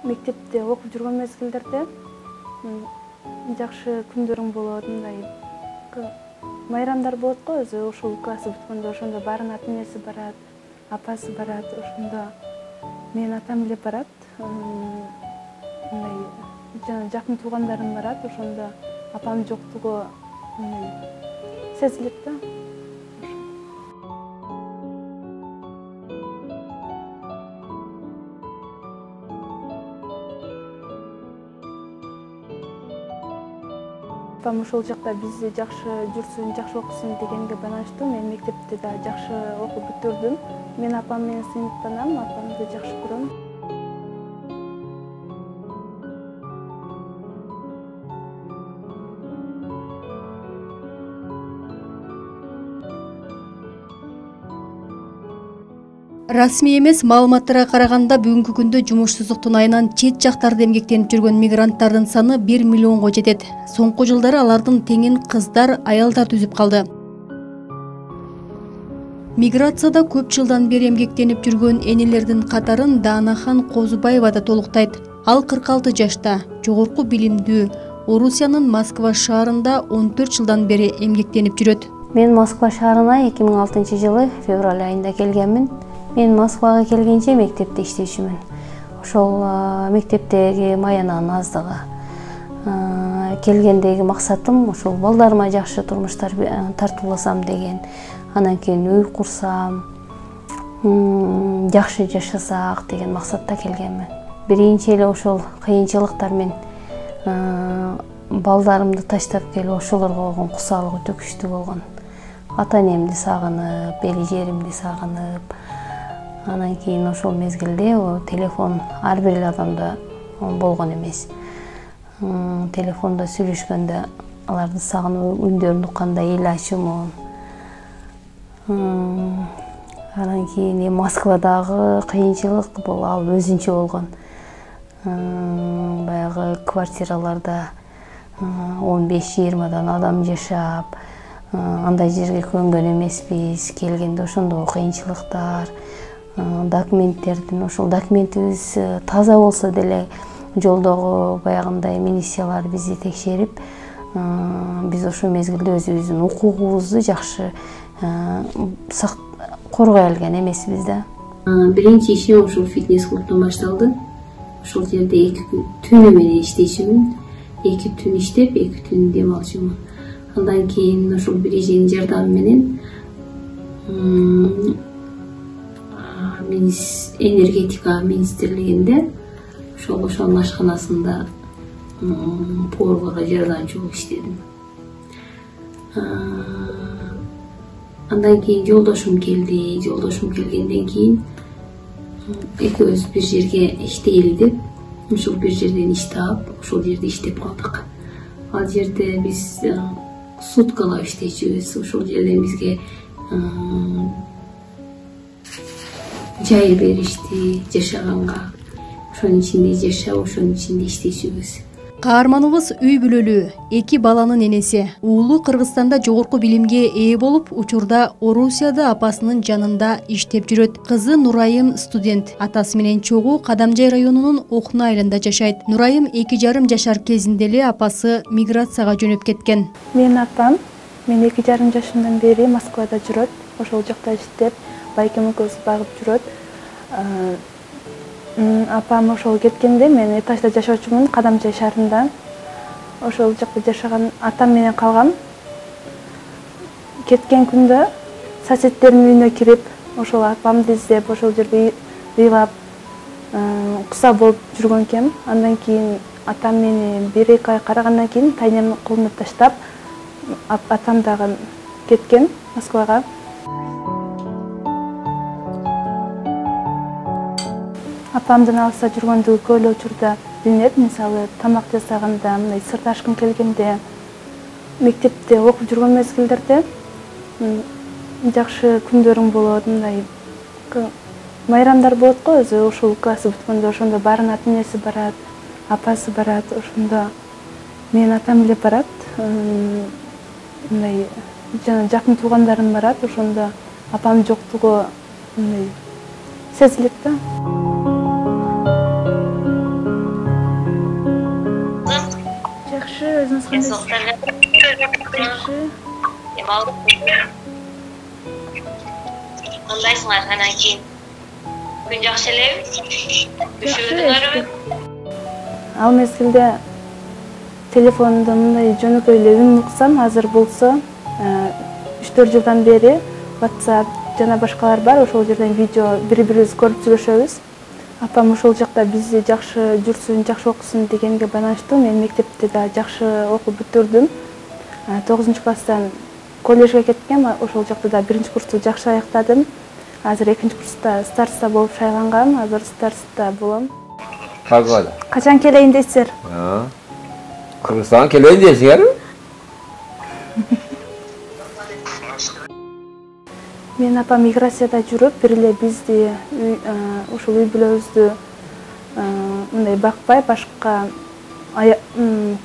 Мектепте окуп жүргөн мезгилдерде жакшы күндөрүң болот, мындай майрамдар болот го өзү. Ушул классы бүткөндө ошондо баарынын ата-энеси барат, апасы барат, ошондо менин атам эле барат. Мындай жана жакын туугандарым барат, ошондо апамдын жоктугу сезилет да. Апам ошол жакта бизди жакшы жүрсүн, жакшы окусун дегенге байланыштуу мен мектепте да жакшы окуп бүтүрдүм. Мен апам менен сыйныптанам, апамды жакшы көрөм. Расмий эмес маалыматтарга караганда бүгүнкү күндө жумушсуздуктун айынан чет жактарда эмгектенип жүргөн мигранттардын саны 1 миллионго жетет. Соңку жылдары алардын теңин кыздар, аялдар түзүп калды. Миграцияда көп жылдан бери эмгектенип жүргөн энелердин катарын Даанахан Козубаева да толуктайт. Ал 46 жашта, жогорку билимдүү, Орусиянын Москва шаарында 14 жылдан бери эмгектенип жүрөт. Мен Москва шаарына 2006 февраль айында келгенмин. Мен Москвага келгенче мектепте иштечүмүн. Ошол мектептеги маянанын аздыгы. Келгендеги максатым ошол балдарыма жакшы турмуштар тартууласам деген. Анан кийин үй курсам, жакшы жашасак деген максатта келгенмин. Биринчи эле ошол кыйынчылыктар мен балдарымды таштап келип ошолорго болгон кусалык өтө күчтүү болгон. Ата-энемди сагынып, эли жеримди сагынып, анан кийин ошол мезгилде телефон ар бир эле адамда болгон эмес. Телефондо сүйлөшкөндө аларды сагынып, үндөрүн укканда эл ачуумун. Анан кийин Москвадагы кыйынчылык бул ал өзүнчө болгон. Баягы квартираларда 15-20 адам жашап, андай жерге көнгөн эмеспиз. Келгенде ошондо кыйынчылыктар, документтердин ошол документибиз таза болсо деле жолдогу баягындай милициялар бизди текшерип, биз ошол мезгилде өзүбүздүн укугубузду жакшы коргой алган эмеспиз да. Биринчи ишим ошол фитнес клубтон башталды. Ошол жерде 2 түнү менен иштечүмүн. 2 түн иштеп, 2 түн дем алчумун. Андан кийин ошол бир эженин жардамы менен энергетика министрлигинде ошонун ашканасында поварга жардамчы болуп иштедим. Андан кийин жолдошум келди. Жолдошум келгенден кийин экөөбүз бир жерге иштейли деп, ошол бир жерден иш таап, ошол жерде иштеп калдык. Ал жерде биз суткалап иштечүбүз. Ошол жерден бизге жай беришти жашаганга. Ошонун ичинде жашап, ошонун ичинде иштечүбүз. Каарманыбыз үй бүлөлүү, 2 баланын энеси. Уулу Кыргызстанда жогорку билимге ээ болуп, учурда Орусияда апасынын жанында иштеп жүрөт. Кызы Нурайым студент. Атасы менен чогуу Кадамжай районунун Окуна айылында жашайт. Нурайым 2,5 жашар кезинде эле апасы миграцияга жөнөп кеткен. Менин апам, мен 2,5 жашымдан бери Москвада жүрөт. Ошол жакта иштеп, байкем экөөбүз багып жүрөт. Апам ошол кеткенде мен этажда жашоочумун, Кадамжай шаарында. Ошол жакта жашаган атам менен калгам. Кеткен күндө соседтердин үйүнө кирип, ошол апамды издеп, ошол жерде ыйлап, куса болуп жүргөн экем. Андан кийин атам мени 1-2 ай карагандан кийин тайнем колуна таштап, атам дагы кеткен Москвага. Апамдын алыста жүргөндүгү көп эле учурда билинет. Мисалы, тамак жасаганда, мындай сырт ашкым келгенде, мектепте окуп жүргөн мезгилдерде жакшы күндөрүң болот, мындай майрамдар болот го өзү. Ушул классы бүткөндө ошондо баарынын ата-энеси барат, апасы барат, ошондо менин атам эле барат. Мындай жана жакын туугандарым барат, ошондо апамдын жоктугу мындай сезилет да. Кандайсыңар анан кийин? Күн жакшы элеби? Түшүрдүңөрбү? Ал мезгилде телефонумда мындай жөнөкөй эле үн уксам, азыр болсо 3-4 жылдан бери WhatsApp жана башкалар бар, ошол жерден видео бири-бирибиз көрүп сүйлөшөбүз. Апам ошол жакта бизди жакшы жүрсүн, жакшы окусун дегенге байланыштуу мен мектепте да жакшы окуп бүтүрдүм. 9-класстан коллежге кеттим, ошол жакта да 1-курсту жакшы аяктадым. Азыр 2-курста староста болуп шайлангам, азыр староста болом. Кагада. Качан келейин дейсиздер? Кыргызстанга келейин дейсиңерби? Мен апам миграцияда жүрүп, бир эле бизди ушул үй бүлөбүздү мындай бакпай, башка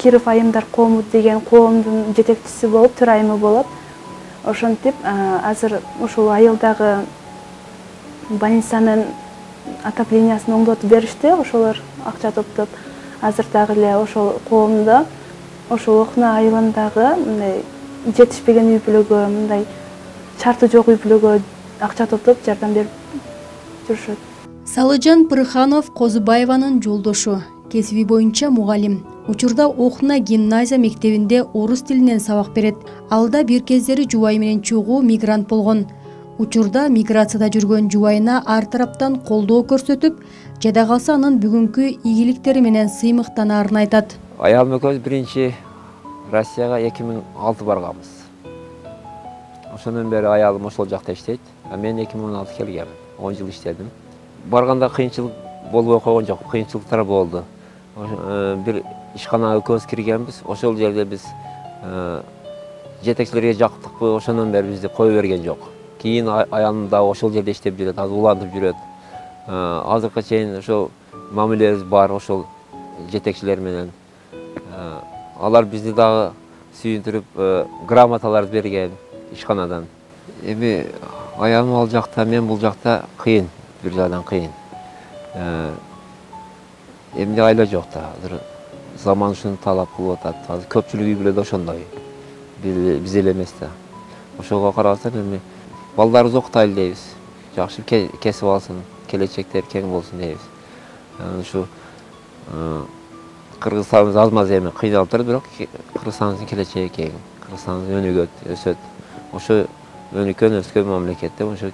Киров айымдар коому деген коомдун жетекчиси болуп, төрайымы болуп, ошентип азыр ушул айылдагы больницанын отоплениясын оңдотуп беришти, ошолор акча топтоп. Азыр дагы эле ошол коомдо, ошол Окуна айылындагы мындай жетишпеген үй бүлөгө, мындай шарты жок үй бүлөгө акча топтоп жардам берип жүрүшөт. Салыжан Пырханов Козубаеванын жолдошу, кесиби боюнча мугалим. Учурда Окуна гимназия мектебинде орус тилинен сабак берет. Алда бир кездери жубайы менен чогуу мигрант болгон. Учурда миграцияда жүргөн жубайына ар тараптан колдоо көрсөтүп, жада калса анын бүгүнкү ийгиликтери менен сыймыктанаарын айтат. Аялым экөөбүз биринчи Россияга 2006 барганбыз. Ошондон бери аялым ошол жакта иштейт. Мен 2016 келгем, 10 жыл иштедим. Барганда кыйынчылык болбой койгон жок, кыйынчылыктар болду. Бир ишканага экөөбүз киргенбиз, ошол жерде биз жетекчилерге жактыкпы, ошондон бери бизди кое берген жок. Кийин аялым да ошол жерде иштеп жүрөт, азыр улантып жүрөт. Азыркыга чейин ошол мамилебиз бар ошол жетекчилер менен. Алар бизди дагы сүйүндүрүп, грамоталар берген ишканадан. Эми аялым ал жакта, мен бул жакта кыйын, бир жагдан кыйын. Эмне айла жок да, азыр заман ушуну талап кылып атат. Азыр көпчүлүк үй бүлөдө ошондой. Биз эле эмес да. Ошого карабастан эми балдарыбызды окутайлы дейбиз. Жакшы кесип алсын, келечектер кең болсун дейбиз. Ушу Кыргызстаныбыз аз-маз эми кыйналып турат, бирок Кыргызстандын келечеги кең. Кыргызстаныбыз өнүгөт, өсөт. Ошо өнүккөн өскөн мамлекетте ошо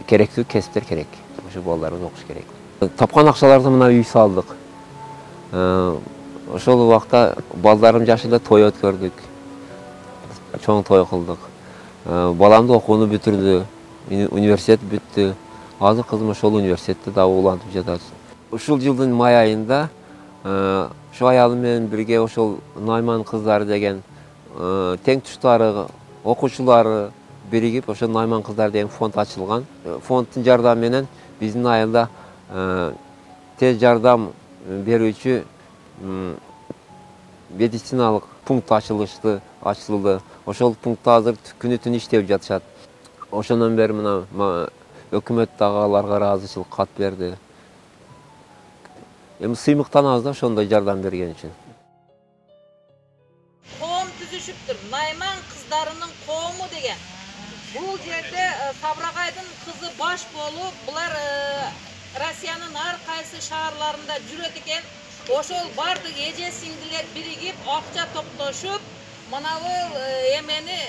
керектүү кесиптер керек. Ошо балдарыбыз окуш керек. Тапкан акчаларды мына үй салдык. Ошол убакта балдарым жашында той өткөрдүк. Чоң той кылдык. Баламды окууну бүтүрдү, университет бүттү. Азыр кызым ошол университетте дагы улантып жатат. Ушул жылдын май айында ошо аялым менен бирге ошол Найман кыздары деген тең туштары, окуучулары биригип, ошо Найман кыздары деген фонд ачылган. Фонддун жардамы менен биздин айылда тез жардам берүүчү медициналык пункт ачылды. Ошол пунктта азыр күнү түн иштеп жатышат. Ошондон бери мына өкмөт дагы аларга ыраазычылык кат берди. Эми сыймыктанабыз да ошондой жардам берген үчүн. Коом түзүшүптүр. Найман кыздарынын коому деген. Бул жерде Сабрагайдын кызы баш болуп, булар Россиянын ар кайсы шаарларында жүрөт экен. Ошол бардык эже сиңдилер биригип, акча топтошуп, манабу эмени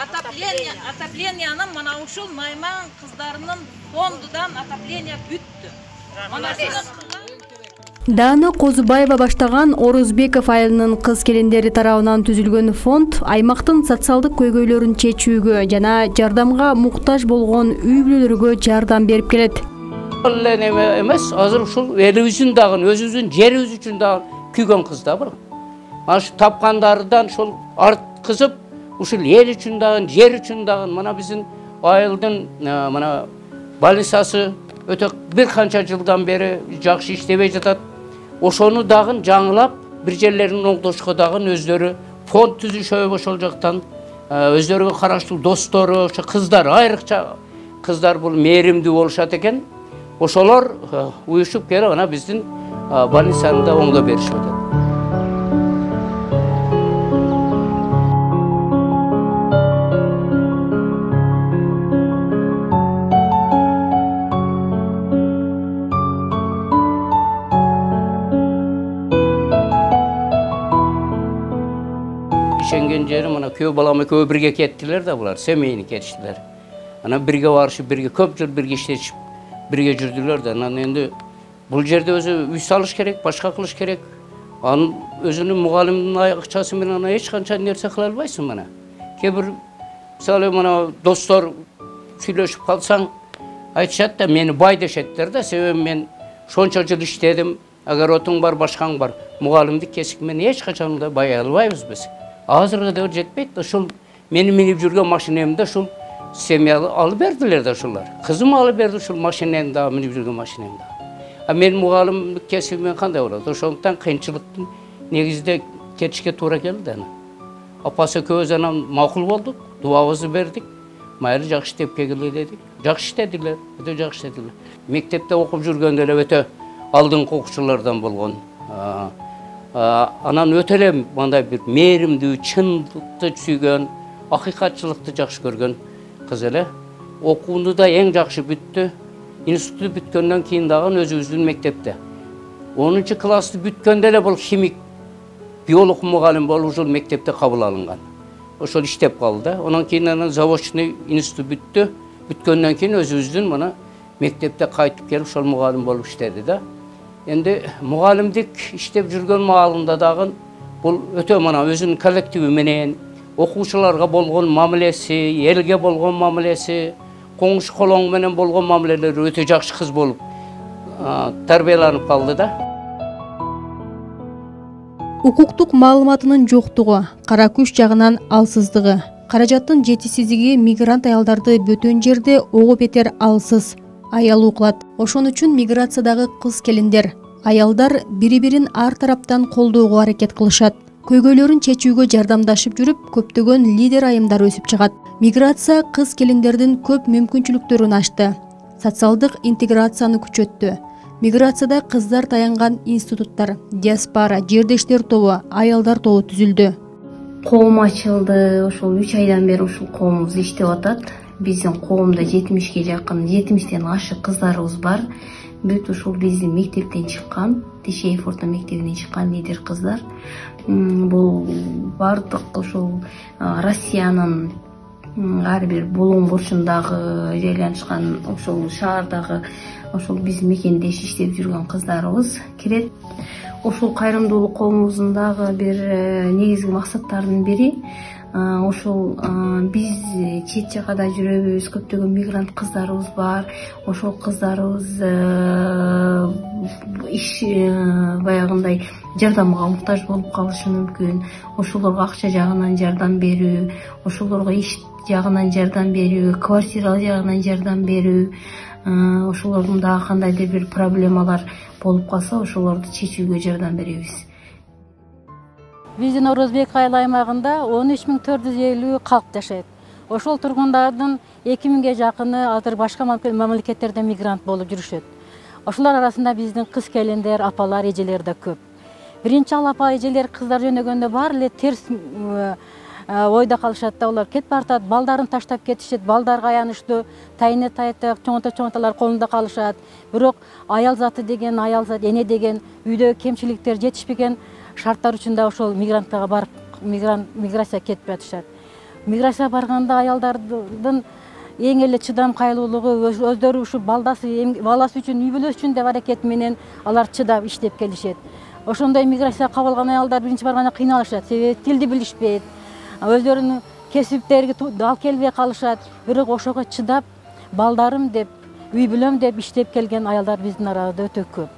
отопленияны мына ушул Найман кыздарынын фондудан отопление бүттү. Дана Козубаева баштаган Орузбеков айылынын кыз келиндери тарабынан түзүлгөн фонд аймактын социалдык көйгөйлөрүн чечүүгө жана жардамга муктаж болгон үй бүлөлөргө жардам берип келет. Эле эмес, азыр ушул элибиздин дагы өзүбүздүн жерибиз үчүн дагы күйгөн кыз да бул. Ашы тапкандардан ушул арткызып, ушул эл үчүн дагы, жер үчүн дагы мына биздин айылдын мына больницасы өтө бир канча жылдан бери жакшы иштебей жатат. Ошону дагы жаңылап, бир жерлерин оңдошко дагы өздөрү фонд түзүшөбү ошол жактан. Өздөрүгө караштуу достору, ошо кыздар, айрыкча кыздар бул мээримдүү болушат экен. Ошолор уюшуп келип ана биздин больницаны да оңдоп беришип атат. келген жери мына күйөө балам экөө бирге кеттилер да, булар семейный кетиштилер. Анан бирге барышып, бирге көп жыл бирге иштешип, бирге жүрдүлөр да. Анан эndi бул жерде өзү үй салыш керек, башка кылыш керек. Анын өзүнүн мугалимдин акчасы менен ана эч канча нерсе кыла албайсың мына. Кээ бир мисалы мына достор сүйлөшүп калсаң, айтышат да, мени бай дешеттер да, себеби мен шончо жыл иштедим, огородуң бар, башкаң бар. Мугалимдик кесип менен эч качан да бай албайбыз биз. Азыркы да жетпейт да, ушул мени минип жүргөн машинемди ушул семья алып бердилер да ушулар. Кызым алып берди ушул машинени да, минип жүргөн машинемди. А мен мугалимдик кесибимен кандай болот? Ошондуктан кыйынчылыктын негизинде кетишке туура келди аны. Апасы экөөбүз анан макул болдук, дуабызды бердик. Майра жакшы иштеп келгиле дедик. Жакшы иштедилер, өтө жакшы иштедилер. Мектепте окуп жүргөндө эле өтө алдыңкы окуучулардан болгон. Анан өтө эле мындай бир мээримдүү, чындыкты сүйгөн, акыйкатчылыкты жакшы көргөн кыз эле. Окууну да эң жакшы бүттү. Институтты бүткөндөн кийин дагы өзүбүздүн мектепте 10 классты бүткөндө эле бул химик, биолог мугалим болуп ушул мектепте кабыл алынган. Ошол иштеп калды да. Анан кийин анан заводчный институт бүттү. Бүткөндөн кийин өзүбүздүн мына мектепте кайтып келип ошол мугалим болуп иштеди да. Энди мугалимдик иштеп жүргөн маалында дагы бул өтө мына өзүнүн коллективи менен окуучуларга болгон мамилеси, элге болгон мамилеси, коңуш колоң менен болгон мамилелери өтө жакшы кыз болуп тарбияланып калды да. Укуктук маалыматынын жоктугу, кара күч жагынан алсыздыгы, каражаттын жетишсиздиги мигрант аялдарды бөтөн жерде ого бетер алсыз, аялуу кылат. Ошон үчүн миграциядагы кыз келиндер, аялдар бири-бирин ар тараптан колдоого аракет кылышат. Көйгөйлөрүн чечүүгө жардамдашып жүрүп, көптөгөн лидер айымдар өсүп чыгат. Миграция кыз келиндердин көп мүмкүнчүлүктөрүн ачты, социалдык интеграцияны күчөттү. Миграцияда кыздар таянган институттар, диаспора, жердештер тобу, аялдар тобу түзүлдү. Коом ачылды. Ошол 3 айдан бери ушул коомубуз иштеп атат. Биздин коомдо 70ге жакын, 70тен ашык кыздарыбыз бар. Бүт ушул биздин мектептен чыккан, Тишеев орто мектебинен чыккан лидер кыздар. Бул бардык ушул Россиянын ар бир булуң бурчундагы жайланышкан ошол шаардагы ошол биздин мекендеш иштеп жүргөн кыздарыбыз кирет. Ошол кайрымдуулук коомубуздун дагы бир негизги максаттарынын бири ошол биз чет жакада жүрөбүз, көптөгөн мигрант кыздарыбыз бар. Ошол кыздарыбыз иш баягындай жардамга муктаж болуп калышы мүмкүн. Ошолорго акча жагынан жардам берүү, ошолорго иш жагынан жардам берүү, квартира жагынан жардам берүү, ошолордун дагы кандайдыр бир проблемалар болуп калса, ошолорду чечүүгө жардам беребиз. Биздин Орозбек айыл аймагында 13.450 калк жашайт. Ошол тургундардын 2000ге жакыны азыр башка мамлекеттерде мигрант болуп жүрүшөт. Ошолор арасында биздин кыз келиндер, апалар, эжелер да көп. Биринчи апа, эжелер кыздар жөнөгөндө баары эле терс ойда калышат да, улар кетип баратат, балдарын таштап кетишет, балдарга аянычтуу, тайыны тайтак, чоңото-чоңотолор колунда калышат. Бирок аял заты деген, аял зат эне деген үйдө кемчиликтер жетишпеген шарттар үчүн ошол мигранттарга барып, миграция кетип жатышат. Миграция барганда аялдардын эң эле чыдам кайлуулугу өздөрү ушу баласы үчүн, үй бүлөсү үчүн деп аракет менен алар чыдап иштеп келишет. Ошондой миграция кабыл алган аялдар биринчи барганда кыйналышат, себеби тилди билишпейт. Өздөрүнүн кесиптериге дал келбей калышат. Бирок ошого чыдап, балдарым деп, үй бүлөм деп иштеп келген аялдар биздин арабызда өтө көп.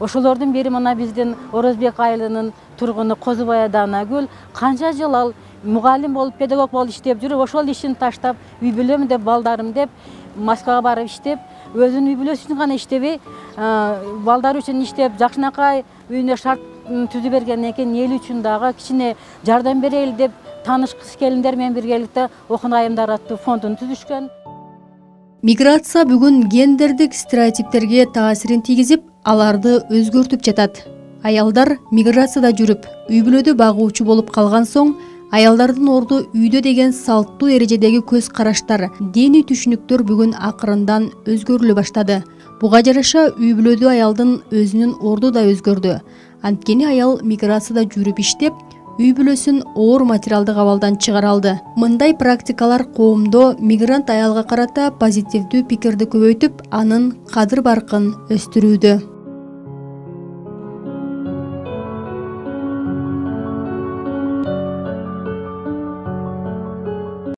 Ошолордун бири мына биздин Орозбек айылынын тургуну Козубай Данагүл канча жыл ал мугалим болуп, педагог болуп иштеп жүрүп, ошол ишин таштап, үй бүлөм деп, балдарым деп Москвага барып иштеп, өзүнүн үй бүлөсү үчүн гана иштебей, балдар үчүн иштеп, жакшынакай үйүнө шарт түзүп бергенден кийин эл үчүн дагы кичине жардам берели деп тааныш кыз келиндер менен биргеликте Окун айымдар аттуу фондун түзүшкөн. Миграция бүгүн гендердик стереотиптерге таасирин тийгизип, аларды өзгөртүп жатат. Аялдар миграцияда жүрүп, үй бүлөдө багуучу болуп калган соң, аялдардын орду үйдө деген салттуу эрежедеги көз караштар, диний түшүнүктөр бүгүн акырындан өзгөрүлө баштады. Буга жараша үй бүлөдө аялдын өзүнүн орду да өзгөрдү. Анткени аял миграцияда жүрүп иштеп, үй бүлөсүн оор материалдык абалдан чыгара алды. Мындай практикалар коомдо мигрант аялга карата позитивдүү пикирди көбөйтүп, анын кадыр баркын өстүрүүдө.